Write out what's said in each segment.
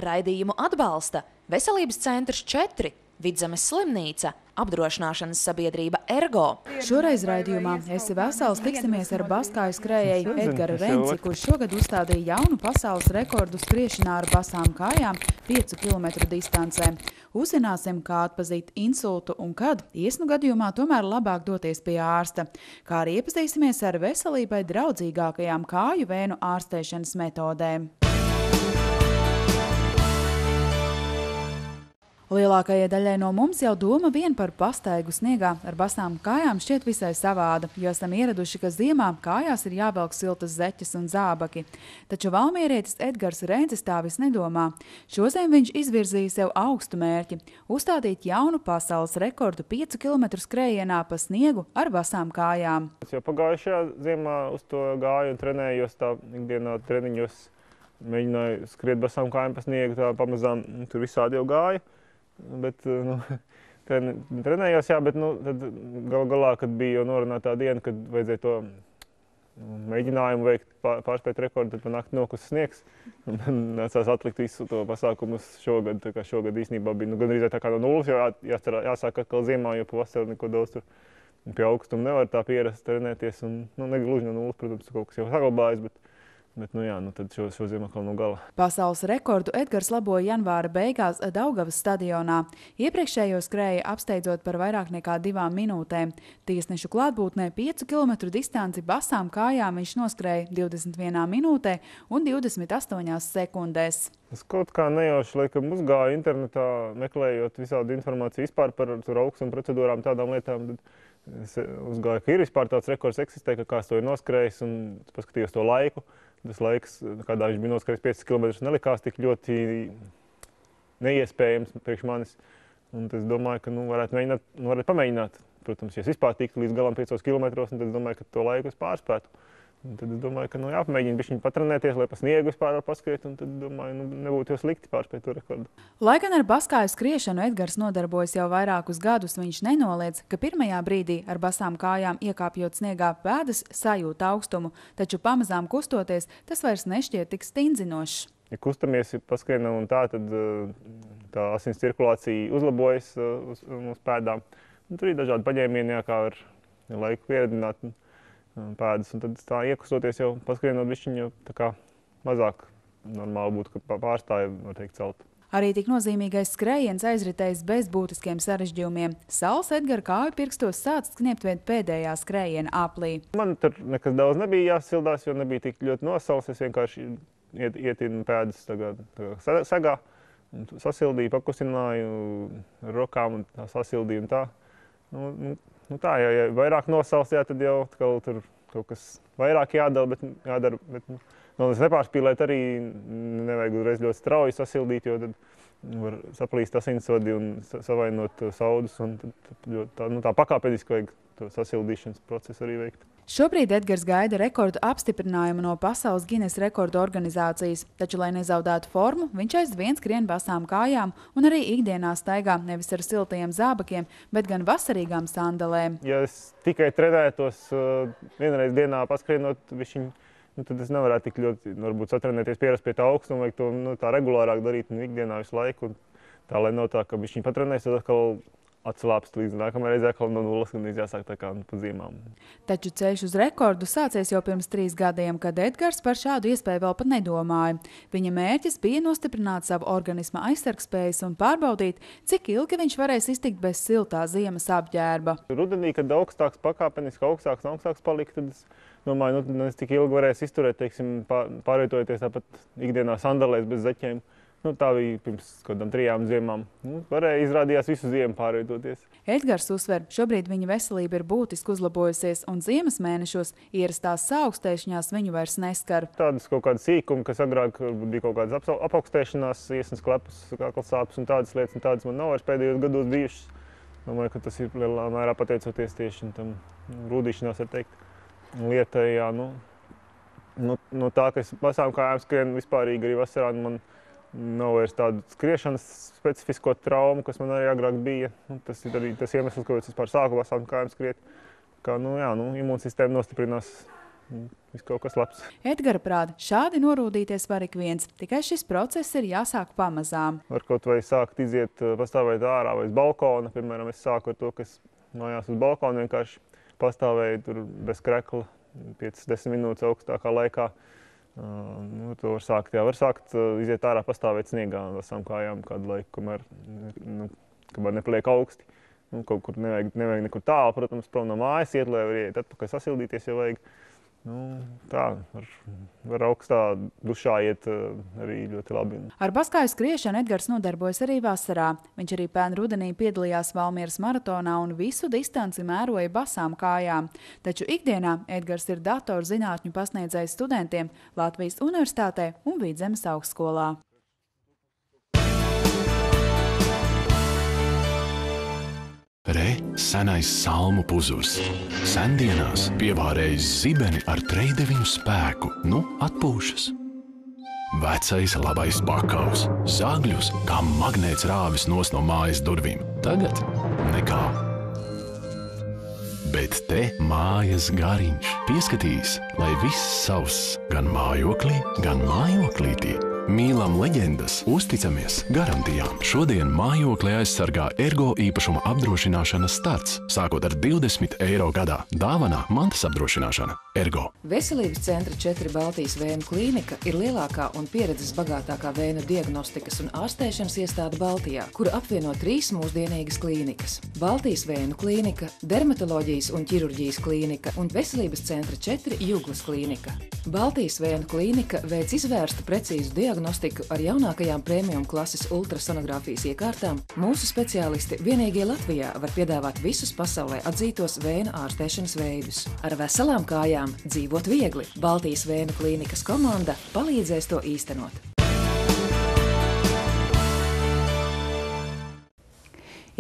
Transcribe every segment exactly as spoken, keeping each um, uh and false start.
Raidījumu atbalsta Veselības centrs četri, Vidzemes slimnīca, apdrošināšanas sabiedrība Ergo. Šoreiz raidījumā Esi vesels tiksimies ar baskāju skrējēju Edgaru Renci, kurš šogad uzstādīja jaunu pasaules rekordu skriešanā ar basām kājām piecu kilometru distancē. Uzzināsim, kā atpazīt insultu un kad, iesnu gadījumā tomēr labāk doties pie ārsta. Kā arī iepazīsimies ar veselībai draudzīgākajām kāju vēnu ārstēšanas metodēm. Lielākajai daļai no mums jau doma vien par pastaigu sniegā ar basām kājām šķiet visai savāda, jo esam ieraduši, ka ziemā kājās ir jāvelk siltas zeķes un zābaki. Taču valmierietis Edgars Rencis tā vis nedomā. Šoziem viņš izvirzīja sev augstu mērķi – uzstādīt jaunu pasaules rekordu piecu kilometru skrējienā pa sniegu ar basām kājām. Es jau pagājušajā ziemā uz to gāju un trenējos tā ikdienā treniņos, mēģināju skriet basām kājām pa sniegu, tā pamazām tur visādi jau gāju. Bet, nu, trenējos, jā, bet, nu, tad gal galā, kad bija jau norunāta tā diena, kad vajadzēja to mēģinājumu veikt, pārspēt rekordu, tad pa nakti nokusa sniegs. Un nācās atlikt visu to pasākumus šogad, tā kā šogad īstenībā bija, nu, gandrīz tā kā no nulles, jo jāstarā, jāsāk atkal ziemā, jo pavasarī neko daudz tur pie augstuma nevar tā pierast trenēties. Un, nu, negluži no nulles, protams, kaut kas jau saglabājas, bet Bet, nu jā, nu tad šo, šo ziemu atkal no gala. Pasaules rekordu Edgars laboja janvāra beigās Daugavas stadionā. Iepriekšējo skrēja apsteidzot par vairāk nekā divām minūtēm. Tiesnešu klātbūtnē piecu kilometru distanci basām kājām viņš noskrēja divdesmit vienā minūtē un divdesmit astoņās sekundēs. Es kaut kā nejauši, laikam, uzgāju internetā, meklējot visādu informāciju vispār par augstuma procedūrām, tādām lietām. Es uzgāju, ka ir vispār tāds rekords eksistē, ka kāds to ir noskrējis, un paskatījos to laiku. Tas laiks, kādā viņš bija noskrējis piecus kilometrus, nelikās tik ļoti neiespējams priekš manis. Un es domāju, ka nu, varētu, mēģināt, nu, varētu pamēģināt. Protams, ja es vispār tiktu līdz galam piecos kilometros, tad es domāju, ka to laiku es pārspētu. Un tad es domāju, ka nu, jāpamēģina bišķiņ patrenēties, lai pa sniegu vispār var paskriet, un tad domāju, nu, nebūtu jau slikti pārspēt to rekordu. Lai gan ar baskāju skriešanu Edgars nodarbojas jau vairākus gadus, viņš nenoliedz, ka pirmajā brīdī ar basām kājām iekāpjot sniegā pēdas sajūt augstumu, taču pamazām kustoties, tas vairs nešķiet tik stingzinošs. Ja kustamies, ja paskrienam un tā, tad tā asins cirkulācija uzlabojas uz, uz pēdām. Un tur ir dažādi paņēmieni, kā ar laiku pieredināt pēdas, un tad tā iekustoties jau paskrienot bišķiņ, jau tā kā mazāk normāli būtu, ka pārstāja, var teikt, celt. Arī tik nozīmīgais skrējiens aizritējis bez būtiskiem sarežģījumiem. Sals Edgara kāju pirkstos sācis kniept vien pēdējā skrējiena aplī. Man tur nekas daudz nebija jāsildās, jo nebija tik ļoti nosals. Es vienkārši iet, ietinu pēdas tagad, tagad segā, un sasildīju, pakustināju ar rokām un tā sasildīju un tā. Nu, nu, Nu tā, ja, ja vairāk nosals, jā, tad jau atkal tur kaut kas vairāk jādara, bet jādara, bet nu, nepārspīlēt arī nevajag uzreiz ļoti strauji sasildīt, jo tad var saplīst asinsvadi un savainot saudus, un tad, tad tā, nu, tā pakāpeniski vajag to sasildīšanas procesu arī veikt. Šobrīd Edgars gaida rekordu apstiprinājumu no Pasaules Gines rekordu organizācijas, taču, lai nezaudētu formu, viņš aizvien skrien basām kājām un arī ikdienā staigā nevis ar siltajiem zābakiem, bet gan vasarīgām sandalēm. Ja es tikai trenētos vienreiz dienā paskrienot višķiņ, nu, tad es nevarētu tik ļoti, varbūt, satrenēties, pierast pie tā augstuma, vajag to nu, tā regulārāk darīt nu, ikdienā visu laiku. Un tā, lai nav tā, ka višķiņ patrenēs, tad atkal atslāpst līdz nākamajai reizē, atkal no nulles, un jāsāk tā kā pa zīmām. Taču ceļš uz rekordu sācies jau pirms trīs gadiem, kad Edgars par šādu iespēju vēl pat nedomāja. Viņa mērķis bija nostiprināt savu organisma aizsargspējas un pārbaudīt, cik ilgi viņš varēs iztikt bez siltā ziemas apģērba. Rudenī, kad augstāks pakāpeniski, augstāks un augstāks palika, tad es domāju, nu, es tik ilgi varēs izturēt, teiksim, pārvietojoties tāpat ikdienā sandalēs bez zeķiem. Nu, tā bija pirms kādām trijām ziemām. Nu, varēja izrādījās visu ziemu pārvietoties. Edgars uzsver, šobrīd viņa veselība ir būtiski uzlabojusies, un ziemas mēnešos ierastās saaugstēšanās viņu vairs neskar. Tādas kaut kādas sīkumi, kas agrāk bija kaut kādas apaugstēšanās, iesnas klepus, kaklasāpes un tādas lietas, un tādas man nav vairs pēdējos gados bijušas. Domāju, ka tas ir lielā mērā pateicoties tieši tam rūdīšanās, var teikt, lietai, jā, nu, nu, no tā, ka es basām kājām skrienu vispārīgi arī vasarā, man nav vairs tādu skriešanas specifisko traumu, kas man arī agrāk bija. Tas ir arī tas iemesls, kāpēc es vispār sāku basām kājām skriet. Kā, nu, jā, nu, imūnsistēma nostiprinās viss kaut kas labs. Edgara prāta, šādi norūdīties var ik viens, tikai šis process ir jāsāk pamazām. Var kaut vai sākt iziet, pastāvēt ārā vai uz balkona. Piemēram, es sāku ar to, kas mājās uz balkona vienkārši pastāvēju tur bez krekla piecas desmit minūtes augstākā laikā. Uh, nu, to var sākt, jā, var sākt uh, iziet ārā, pastāvēt sniegā vasām kājām kādu laiku, kamēr, nu, kamēr nepaliek augsti. Nu, kaut kur nevajag, nevajag nekur tālu, protams, prom no mājas iet, lai var iet atpakaļ sasildīties, ja vajag. Nu, tā, var, var augstā dušā iet uh, arī ļoti labi. Ar baskāju skriešanu Edgars nodarbojas arī vasarā. Viņš arī pērn rudenī piedalījās Valmieras maratonā un visu distanci mēroja basām kājām. Taču ikdienā Edgars ir datorzinātņu pasniedzējs studentiem Latvijas Universitātē un Vidzemes augstskolā. Re, senais salmu puzurs. Sendienās pievārējis zibeni ar trejdeviņu spēku, nu atpūšas. Vecais labais pakaus, zagļus, kā magnēts rāvis nos no mājas durvīm. Tagad nekā. Bet te mājas gariņš pieskatīs, lai viss savs gan mājoklī, gan mājoklītī. Mīlam leģendas, uzticamies garantijām. Šodien mājokli aizsargā Ergo īpašuma apdrošināšanas starts, sākot ar divdesmit eiro gadā. Dāvanā mantas apdrošināšana. Ergo. Veselības centra četri Baltijas vēnu klīnika ir lielākā un pieredzes bagātākā vēnu diagnostikas un ārstēšanas iestāde Baltijā, kura apvieno trīs mūsdienīgas klīnikas. Baltijas vēnu klīnika, dermatoloģijas un ķirurģijas klīnika un Veselības centra četri Juglas klīnika. Baltijas vēnu klīnika veic izvērstu precīzu diagnostiku diagnostiku ar jaunākajām premium klases ultrasonogrāfijas iekārtām. Mūsu speciālisti vienīgie Latvijā var piedāvāt visus pasaulē atzītos vēnu ārstēšanas veidus. Ar veselām kājām dzīvot viegli. Baltijas vēnu klīnikas komanda palīdzēs to īstenot.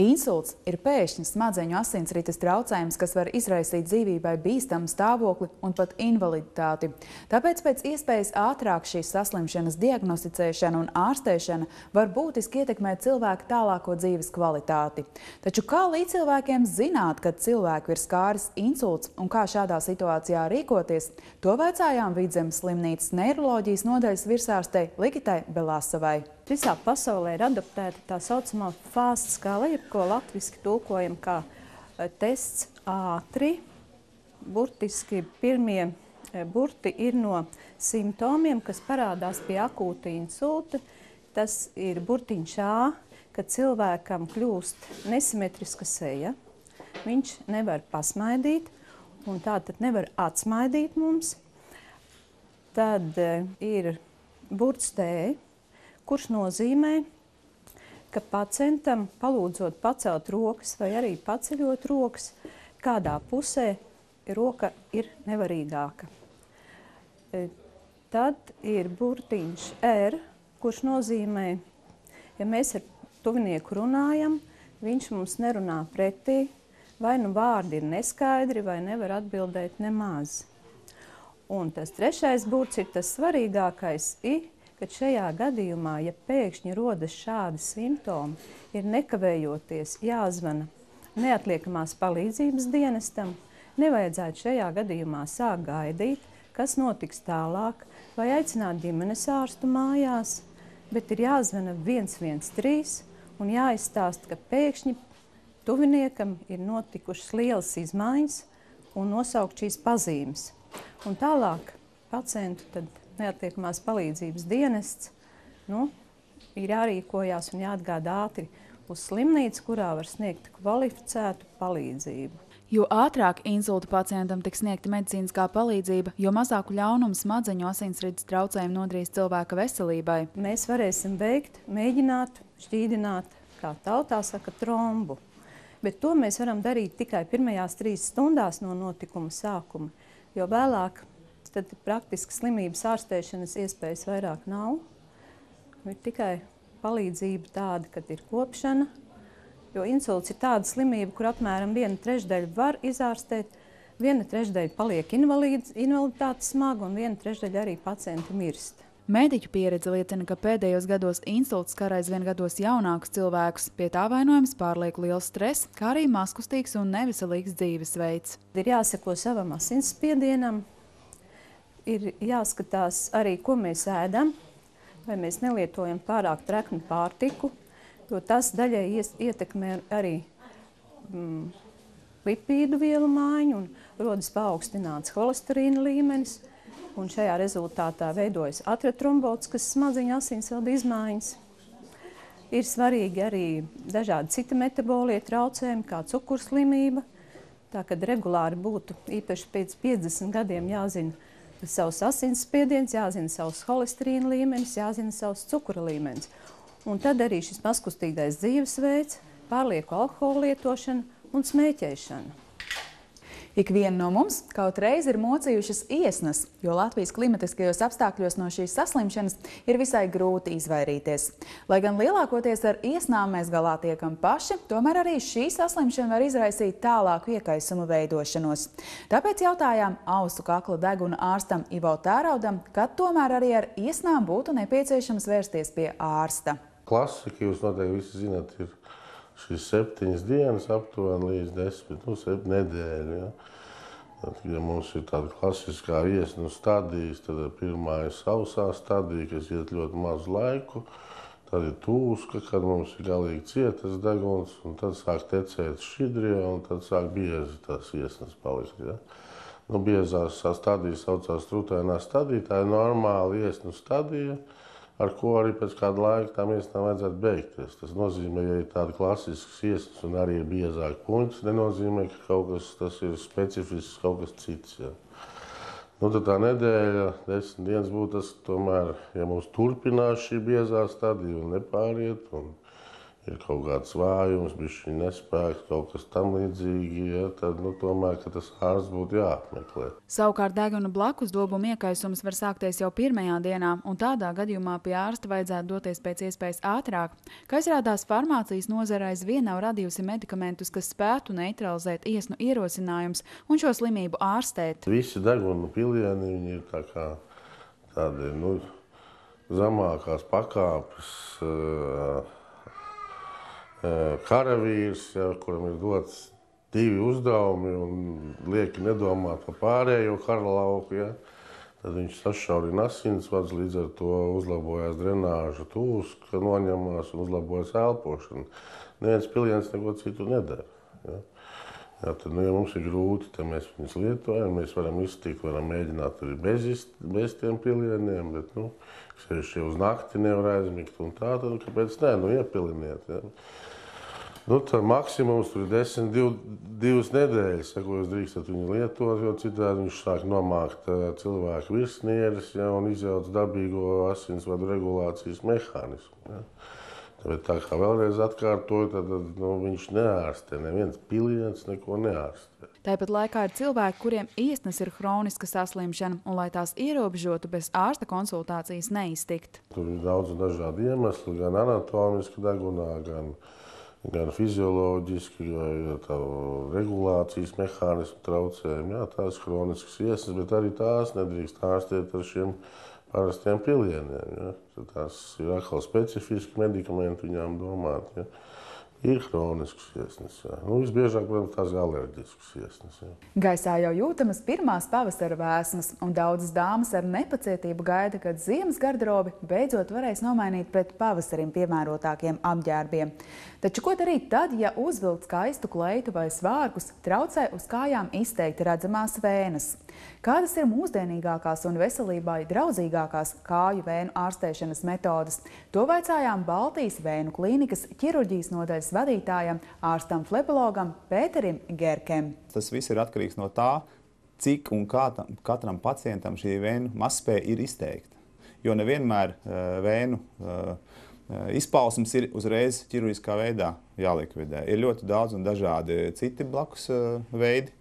Insults ir pēkšņs smadzeņu asinsrites traucējums, kas var izraisīt dzīvībai bīstamu stāvokli un pat invaliditāti. Tāpēc pēc iespējas ātrāk šīs saslimšanas diagnosticēšana un ārstēšana var būtiski ietekmēt cilvēku tālāko dzīves kvalitāti. Taču kā līdzcilvēkiem zināt, kad cilvēku ir skāris insults un kā šādā situācijā rīkoties, to vaicājām Vidzemes slimnīcas neiroloģijas nodaļas virsārstei Ligitai Belasavai. Visā pasaulē ir adaptēta tā saucamā fāsta skala, jeb ko latviski tulkojam kā tests ātri. Burtiski pirmie burti ir no simptomiem, kas parādās pie akūta insulta. Tas ir burtiņš A, kad cilvēkam kļūst nesimetriska seja. Viņš nevar pasmaidīt, un tātad nevar atsmaidīt mums. Tad ir burts T, kurš nozīmē, ka pacientam palūdzot pacelt rokas vai arī paceļot rokas, kādā pusē roka ir nevarīgāka. Tad ir burtiņš R, kurš nozīmē, ja mēs ar tuvinieku runājam, viņš mums nerunā pretī, vai nu vārdi ir neskaidri, vai nevar atbildēt nemaz. Un tas trešais burts ir tas svarīgākais, I, kad šajā gadījumā, ja pēkšņi rodas šādi simptomi, ir nekavējoties jāzvana neatliekamās palīdzības dienestam, nevajadzētu šajā gadījumā sākt gaidīt, kas notiks tālāk, vai aicināt ģimenes ārstu mājās, bet ir jāzvana viens viens trīs un jāizstāsta, ka pēkšņi tuviniekam ir notikušas lielas izmaiņas un nosaukt šīs pazīmes. Un tālāk pacientu tad neatliekamās palīdzības dienests, nu, ir jārīkojās un jāatgādā ātri uz slimnīcu, kurā var sniegt kvalificētu palīdzību. Jo ātrāk insulta pacientam tiks sniegta medicīniskā palīdzība, jo mazāku ļaunumu smadzeņu asinsrites traucējumu nodarīs cilvēka veselībai. Mēs varēsim veikt, mēģināt, šķīdināt, kā tautā saka, trombu. Bet to mēs varam darīt tikai pirmajās trīs stundās no notikuma sākuma, jo vēlāk tad praktiski slimības ārstēšanas iespējas vairāk nav. Ir tikai palīdzība tāda, kad ir kopšana, jo insults ir tāda slimība, kur apmēram viena trešdaļa var izārstēt, viena trešdaļa paliek invaliditāte smaga un viena trešdaļa arī pacienti mirst. Mediķu pieredze liecina, ka pēdējos gados insults skar aizvien gados jaunākus cilvēkus, pie tā vainojams pārlieku liels stress, kā arī mazkustīgs un neveselīgs dzīvesveids. Ir jāseko savam asinsspiedienam, ir jāskatās arī, ko mēs ēdam, vai mēs nelietojam pārāk treknu pārtiku, jo tas daļai ietekmē arī mm, lipīdu vielu maiņu un rodas paaugstināts holesterīna līmenis. Un šajā rezultātā veidojas atriotrombots, kas smadziņu asinsvadu izmaiņas. Ir svarīgi arī dažādi citi metabolie traucējumi, kā cukurslimība. Tā, kad regulāri būtu īpaši pēc piecdesmit gadiem jāzina savs asinsspiediens, jāzina savs holesterīna līmenis, jāzina savs cukura līmenis. Un tad arī šis mazkustīgais dzīvesveids, pārlieku alkohola lietošana un smēķēšana. Ikviena no mums kaut reiz ir mocījušas iesnas, jo Latvijas klimatiskajos apstākļos no šīs saslimšanas ir visai grūti izvairīties. Lai gan lielākoties ar iesnām mēs galā tiekam paši, tomēr arī šī saslimšana var izraisīt tālāku iekaisumu veidošanos. Tāpēc jautājām ausu kakla deguna ārstam Ivo Tēraudam, kad tomēr arī ar iesnām būtu nepieciešams vērsties pie ārsta. Klasika, jūs noteikti visi zināt, ir šīs septiņas dienas aptuveni līdz desmit, nu, septiņas nedēļu. Ja? Tad, ja mums ir tāda klasiskā iesnu stadijas, tad pirmā ir sausā stadija, kas iet ļoti mazu laiku. Tad ir tūska, kad mums ir galīgi cietas deguns, un tad sāk tecēt šķidrie, un tad sāk biezi tās iesnas palikt. Ja? Nu, biezās stadijas saucās trutainā stadija, tā ir normāla iesnu stadija, ar ko arī pēc kāda laika tām iesnām vajadzētu beigties. Tas nozīmē, ja ir tāda klasiskas iesnas un arī ir biezāk puņķis, nenozīmē, ka kaut kas tas ir specifisks, kaut kas cits. Ja. Nu, tad tā nedēļa, desmit dienas būtu tas, tomēr, ja mums turpinās šī biezā stadija un nepāriet, un ir kaut kāds vājums, bišķiņ nespēks, kaut kas tam līdzīgi, ja, tad, nu, tomēr, ka tas ārsts būtu jāapmeklē. Savukārt deguna blakus dobuma iekaisums var sākties jau pirmajā dienā, un tādā gadījumā pie ārsta vajadzētu doties pēc iespējas ātrāk. Kā izrādās, farmācijas nozare aizvien nav radījusi medikamentus, kas spētu neutralizēt iesnu ierosinājumus un šo slimību ārstēt. Visi deguna pilieni, viņi ir tā kā tādi, nu, zemākās pakāpes, uh, karavīrs, ja, kuram ir dots divi uzdevumi un lieki nedomāt par pārējo karalauku, ja, tad viņš sašaurina asinsvadus, līdz ar to uzlabojās drenāža tūska, noņemās un uzlabojas elpošana. Neviens piliens neko citu nedara. Ja. Ja, tad, nu, ja mums ir grūti, tad mēs viņus lietojam, mēs varam iztikt, varam mēģināt arī bez, bez tiem pilieniem, bet, nu, sevišķi uz nakti nevar aizmigt un tā, tad kāpēc ne, nu, iepiliniet. Ja. Nu, tā maksimums tur ir desmit, div, divas nedēļas, ja, ko jūs drīkstat viņu lietot, jo citādi viņš sāk nomākt uh, cilvēku virsnieres, ja, un izjauc dabīgo asinsvadu regulācijas mehānismu. Ja. Tāpēc tā kā vēlreiz atkārtoju, tad nu, viņš neārstē, neviens piliens neko neārstē. Tāpat laikā ir cilvēki, kuriem iesnas ir hroniska saslimšana, un lai tās ierobežotu bez ārsta konsultācijas neiztikt. Tur ir daudz dažādu iemeslu, gan anatomiski degunā, gan gan fizioloģiski, vai tā regulācijas mehānismu traucējumi. Jā, tās hroniskas iesnas, bet arī tās nedrīkst ārstēt ar šiem parastiem pilieniem. Ja. Tās ir atkal specifiski medikamenti viņām domāt. Ja. Ir hroniskas iesnas. Ja. Nu, visbiežāk, protams, tās alerģiskas iesnas. Ja. Gaisā jau jūtamas pirmās pavasara vēsmas, un daudzas dāmas ar nepacietību gaida, kad ziemas garderobi beidzot varēs nomainīt pret pavasarim piemērotākiem apģērbiem. Taču ko darīt tad, ja uzvilkt skaistu kleitu vai svārkus traucē uz kājām izteikti redzamās vēnes? Kādas ir mūsdienīgākās un veselībai draudzīgākās kāju vēnu ārstēšanas metodas? To vaicājām Baltijas vēnu klīnikas ķirurģijas nodaļas vadītājam, ārstam flebologam Pēterim Gerkem. Tas viss ir atkarīgs no tā, cik un kā tam, katram pacientam šī vēnu mazspēja ir izteikta. Jo nevienmēr uh, vēnu uh, izpausmes ir uzreiz ķirurģiskā veidā jālikvidē. Ir ļoti daudz un dažādi citi blakus uh, veidi,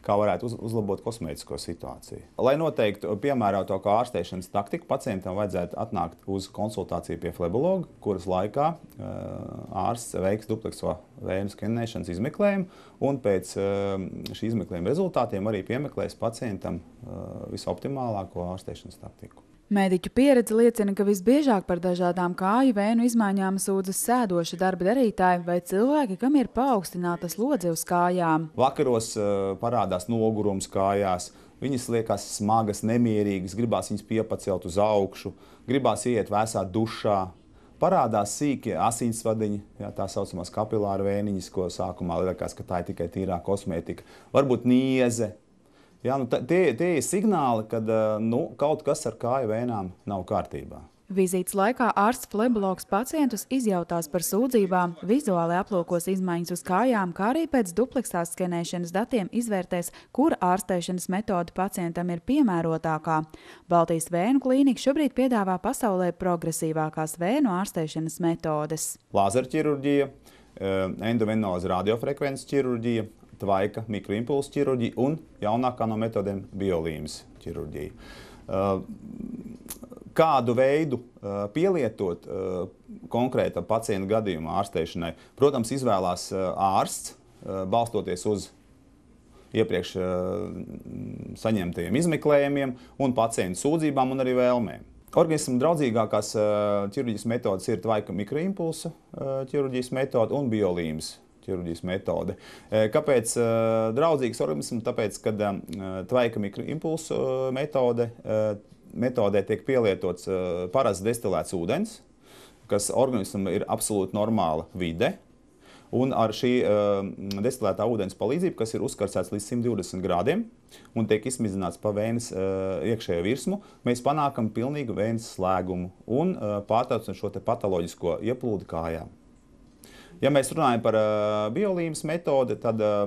kā varētu uz, uzlabot kosmētisko situāciju. Lai noteiktu piemērotāko ārstēšanas taktiku, pacientam vajadzētu atnākt uz konsultāciju pie flebologa, kuras laikā uh, ārsts veiks duplekso vēju skenēšanas izmeklējumu, un pēc uh, šī izmeklējuma rezultātiem arī piemeklēs pacientam uh, visoptimālāko ārstēšanas taktiku. Mediķu pieredze liecina, ka visbiežāk par dažādām kāju vēnu izmaiņām sūdzas sēdoši darba darītāji vai cilvēki, kam ir paaugstināta slodze uz kājām. Vakaros uh, parādās nogurums kājās, viņas liekas smagas, nemierīgas, gribās viņas piepacelt uz augšu, gribās iet vēsā dušā. Parādās sīki asinsvadiņi, jā, tā saucamās kapilāra vēniņas, ko sākumā liekas, ka tā ir tikai tīrā kosmētika. Varbūt nieze. Jā, nu, tie, tie ir signāli, ka nu, kaut kas ar kāju vēnām nav kārtībā. Vizītes laikā ārsts flebologs pacientus izjautās par sūdzībām, vizuāli aplūkos izmaiņas uz kājām, kā arī pēc dupleksā skenēšanas datiem izvērtēs, kura ārstēšanas metode pacientam ir piemērotākā. Baltijas vēnu klīnika šobrīd piedāvā pasaulē progresīvākās vēnu ārstēšanas metodes. Lāzerķirurģija, endovenoza radiofrekvences ķirurģija, tvaika mikroimpulsu ķirurģija un jaunākā no metodēm biolīmas ķirurģija. Kādu veidu pielietot konkrēta pacienta gadījuma ārstēšanai, protams, izvēlās ārsts, balstoties uz iepriekš saņemtajiem izmeklējumiem un pacientu sūdzībām un arī vēlmēm. Organismam draudzīgākās ķirurģijas metodas ir tvaika mikroimpulsu ķirurģijas metode un biolīmas ķirurģijas metode. Kāpēc draudzīgs organismam? Tāpēc, kad tvaika mikroimpulsu metode, metodē tiek pielietots parasts destilēts ūdens, kas organismam ir absolūti normāla vide, un ar šī destilētā ūdens palīdzību, kas ir uzkarsēts līdz simt divdesmit grādiem un tiek izmizināts pa vēnes iekšējo virsmu, mēs panākam pilnīgu vēnes slēgumu un pārtraucam šo te patoloģisko ieplūdi kājām. Ja mēs runājam par uh, biolīmas metodi, tad uh,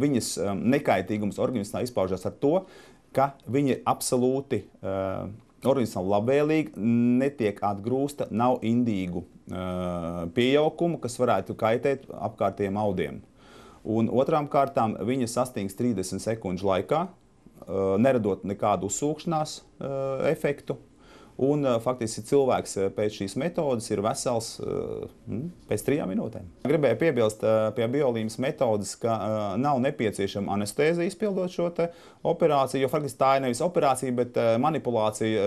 viņas uh, nekaitīgums organismā izpaužas ar to, ka viņa ir absolūti uh, organismam labvēlīga, netiek atgrūsta, nav indīgu uh, pieaukumu, kas varētu kaitēt apkārtējiem audiem. Un otrām kārtām viņa sasniegs trīsdesmit sekundžu laikā, uh, neradot nekādu uzsūkšanās uh, efektu. Un faktiski cilvēks pēc šīs metodas ir vesels pēc trijām minūtēm. Gribēju piebilst pie biolīmas metodas, ka nav nepieciešama anestēzija izpildot šo te operāciju, jo faktiski tā ir nevis operācija, bet manipulācija,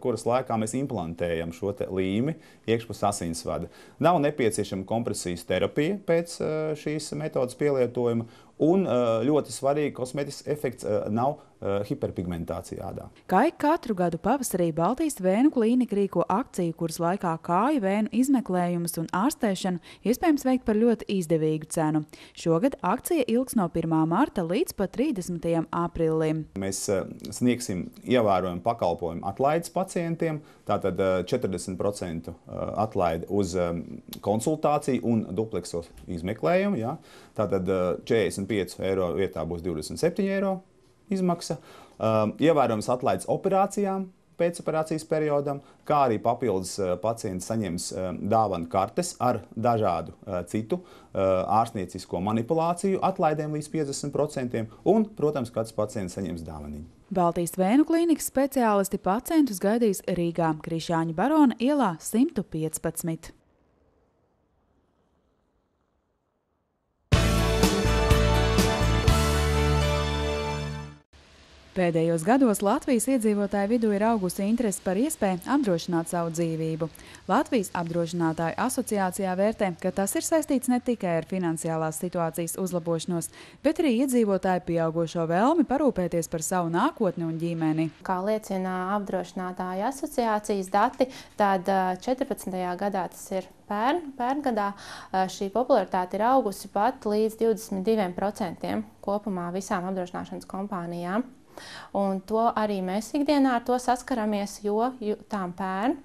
kuras laikā mēs implantējam šo te līmi iekšpus asinsvada. Nav nepieciešama kompresijas terapija pēc šīs metodas pielietojuma. Un ļoti svarīgi kosmētisks efekts nav hiperpigmentācija ādā. Kā ik katru gadu pavasarī Baltijas vēnu klīnika rīko akciju, kuras laikā kāju vēnu izmeklējumus un ārstēšanu iespējams veikt par ļoti izdevīgu cenu. Šogad akcija ilgs no pirmā marta līdz pat trīsdesmitajam aprīlim. Mēs sniegsim ievērojumu pakalpojumu atlaides pacientiem, tātad četrdesmit procenti atlaide uz konsultāciju un dupleksos izmeklējumu. Ja? Tātad četrdesmit pieci eiro vietā būs divdesmit septiņi eiro izmaksa. Ievērojams atlaides operācijām pēcoperācijas periodam, kā arī papildus pacients saņems dāvanu kartes ar dažādu citu ārstniecisko manipulāciju atlaidēm līdz piecdesmit procentiem un, protams, kāds pacients saņems dāvaniņu. Baltijas vēnu klīnikas speciālisti pacientus gaidīs Rīgā, Krišāņa Barona ielā simt piecpadsmit. Pēdējos gados Latvijas iedzīvotāju vidū ir augusi interese par iespēju apdrošināt savu dzīvību. Latvijas apdrošinātāju asociācijā vērtē, ka tas ir saistīts ne tikai ar finansiālās situācijas uzlabošanos, bet arī iedzīvotāju pieaugušo vēlmi parūpēties par savu nākotni un ģimeni. Kā liecina apdrošinātāju asociācijas dati, tad četrpadsmitajā gadā, tas ir pērn, pērngadā, šī popularitāte ir augusi pat līdz divdesmit diviem procentiem kopumā visām apdrošināšanas kompānijām. Un to arī mēs ikdienā ar to saskaramies, jo tām pērn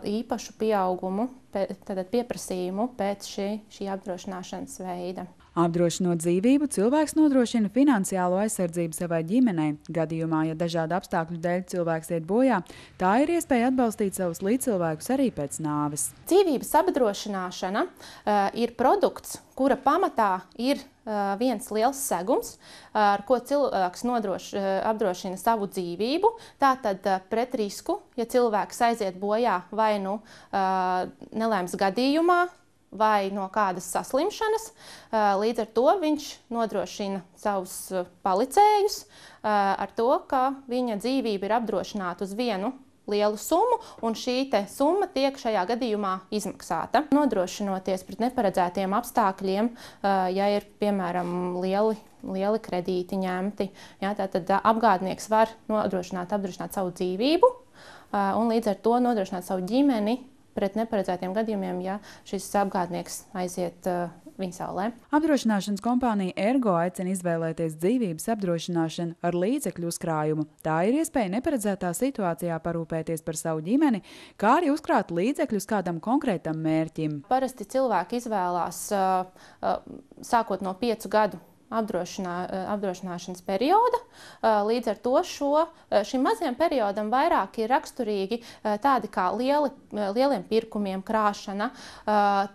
īpašu pieaugumu, tātad pieprasījumu pēc šī, šī apdrošināšanas veida. Apdrošinot dzīvību, cilvēks nodrošina finansiālo aizsardzību savai ģimenei. Gadījumā, ja dažādu apstākļu dēļ cilvēks iet bojā, tā ir iespēja atbalstīt savus līdzcilvēkus arī pēc nāves. Dzīvības apdrošināšana uh, ir produkts, kura pamatā ir uh, viens liels segums, uh, ar ko cilvēks nodroš, uh, apdrošina savu dzīvību. Tātad uh, pret risku, ja cilvēks aiziet bojā vai nu uh, nelaimes gadījumā, vai no kādas saslimšanas. Līdz ar to viņš nodrošina savus palicējus ar to, ka viņa dzīvība ir apdrošināta uz vienu lielu summu, un šī te summa tiek šajā gadījumā izmaksāta. Nodrošinoties pret neparedzētiem apstākļiem, ja ir, piemēram, lieli, lieli kredīti ņemti, ja, tad apgādnieks var nodrošināt, apdrošināt savu dzīvību, un līdz ar to nodrošināt savu ģimeni pret neparedzētiem gadījumiem, ja šis apgādnieks aiziet uh, viņa saulē. Apdrošināšanas kompānija Ergo aicina izvēlēties dzīvības apdrošināšanu ar līdzekļu uzkrājumu. Tā ir iespēja neparedzētā situācijā parūpēties par savu ģimeni, kā arī uzkrāt līdzekļus kādam konkrētam mērķim. Parasti cilvēki izvēlās uh, uh, sākot no piecu gadu Apdrošinā, apdrošināšanas perioda. Līdz ar to šo, šim mazajam periodam vairāk ir raksturīgi tādi kā lieli, lieliem pirkumiem krāšana,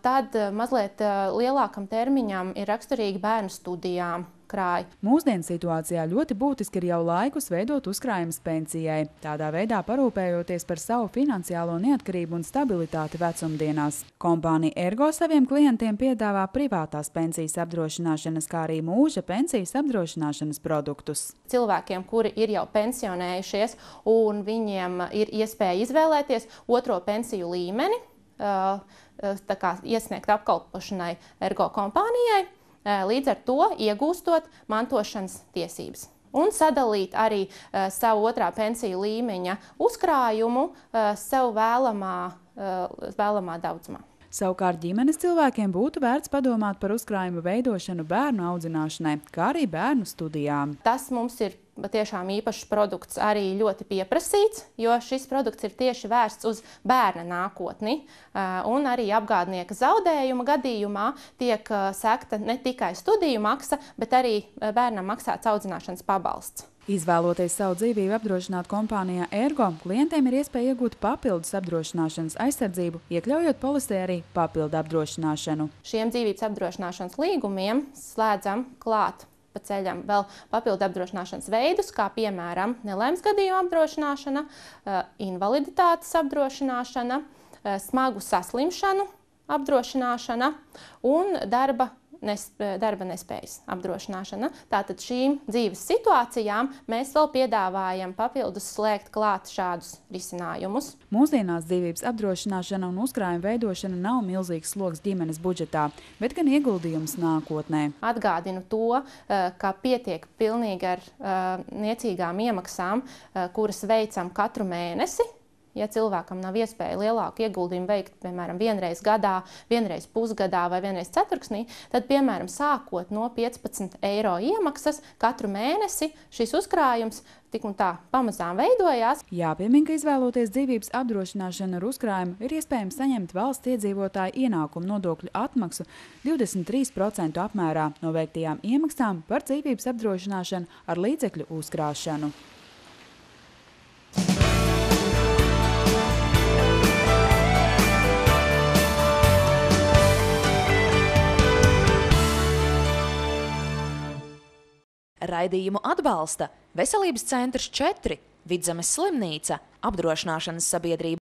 tad mazliet lielākam termiņam ir raksturīgi bērnu studijām krāj. Mūsdienu situācijā ļoti būtiski ir jau laikus veidot uzkrājumus pensijai, tādā veidā parūpējoties par savu finansiālo neatkarību un stabilitāti vecumdienās. Kompānija Ergo saviem klientiem piedāvā privātās pensijas apdrošināšanas, kā arī mūža pensijas apdrošināšanas produktus. Cilvēkiem, kuri ir jau pensionējušies un viņiem ir iespēja izvēlēties otro pensiju līmeni, tā kā iesniegt apkalpošanai Ergo kompānijai, līdz ar to iegūstot mantošanas tiesības. Un sadalīt arī uh, savu otrā pensiju līmeņa uzkrājumu uh, sev vēlamā, uh, vēlamā daudzumā. Savukārt ģimenes cilvēkiem būtu vērts padomāt par uzkrājumu veidošanu bērnu audzināšanai, kā arī bērnu studijām. Tas mums ir patiešām īpašs produkts, arī ļoti pieprasīts, jo šis produkts ir tieši vērsts uz bērna nākotni. Un arī apgādnieka zaudējuma gadījumā tiek sekta ne tikai studiju maksa, bet arī bērnam maksāts audzināšanas pabalsts. Izvēloties savu dzīvību apdrošināt kompānijā Ergo, klientiem ir iespēja iegūt papildus apdrošināšanas aizsardzību, iekļaujot polisē arī papildu apdrošināšanu. Šiem dzīvības apdrošināšanas līgumiem slēdzam klāt pa ceļam vēl papildu apdrošināšanas veidus, kā piemēram nelaimes gadījuma apdrošināšana, invaliditātes apdrošināšana, smagu saslimšanu apdrošināšana un darba Nesp- darba nespējas apdrošināšana. Tātad šīm dzīves situācijām mēs vēl piedāvājam papildus slēgt klāt šādus risinājumus. Mūsdienās dzīvības apdrošināšana un uzkrājuma veidošana nav milzīgs sloks ģimenes budžetā, bet gan ieguldījums nākotnē. Atgādinu to, ka pietiek pilnīgi ar niecīgām iemaksām, kuras veicam katru mēnesi. Ja cilvēkam nav iespēja lielāku ieguldījumu veikt, piemēram, vienreiz gadā, vienreiz pusgadā vai vienreiz ceturksnī, tad, piemēram, sākot no piecpadsmit eiro iemaksas katru mēnesi, šis uzkrājums tik un tā pamazām veidojās. Jāpiemin, ka izvēloties dzīvības apdrošināšanu ar uzkrājumu, ir iespējams saņemt valsts iedzīvotāju ienākumu nodokļu atmaksu divdesmit trīs procentu apmērā no veiktajām iemaksām par dzīvības apdrošināšanu ar līdzekļu uzkrāšanu. Raidījumu atbalsta Veselības centrs četri, Vidzemes slimnīca, apdrošināšanas sabiedrība